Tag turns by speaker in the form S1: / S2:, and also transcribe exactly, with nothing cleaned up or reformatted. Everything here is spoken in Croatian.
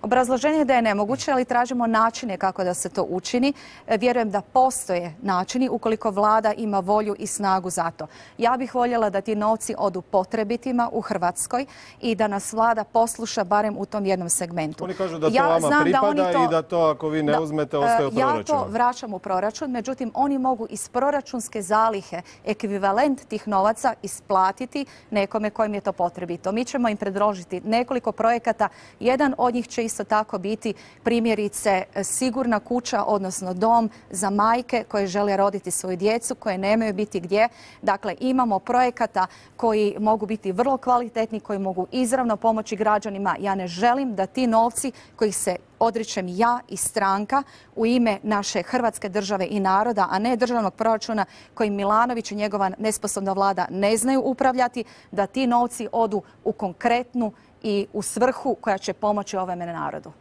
S1: Obrazloženje je da je nemoguće, ali tražimo načine kako da se to učini. Vjerujem da postoje načini ukoliko vlada ima volju i snagu za to. Ja bih voljela da ti novci odu potrebitima u Hrvatskoj i da nas vlada posluša barem u tom jednom segmentu.
S2: Oni kažu da to ja vama pripada da to, i da to ako vi ne da, uzmete ostaje u proračunu.
S1: Ja to vraćam u proračun, međutim oni mogu iz proračunske zalihe ekvivalent tih novaca isplatiti nekome kojem je to potrebito. Mi ćemo im predložiti nekoliko projekata. Jedan od njih će isto tako biti primjerice sigurna kuća, odnosno dom za majke koje žele roditi svoju djecu, koje nemaju biti gdje. Dakle, imamo projekata koji mogu biti vrlo kvalitetni, koji mogu izravno pomoći građanima. Ja ne želim da ti novci kojih se odričem ja i stranka u ime naše Hrvatske države i naroda, a ne državnog proračuna kojim Milanović i njegova nesposobna vlada ne znaju upravljati, da ti novci odu u konkretnu i u svrhu koja će pomoći ovome narodu.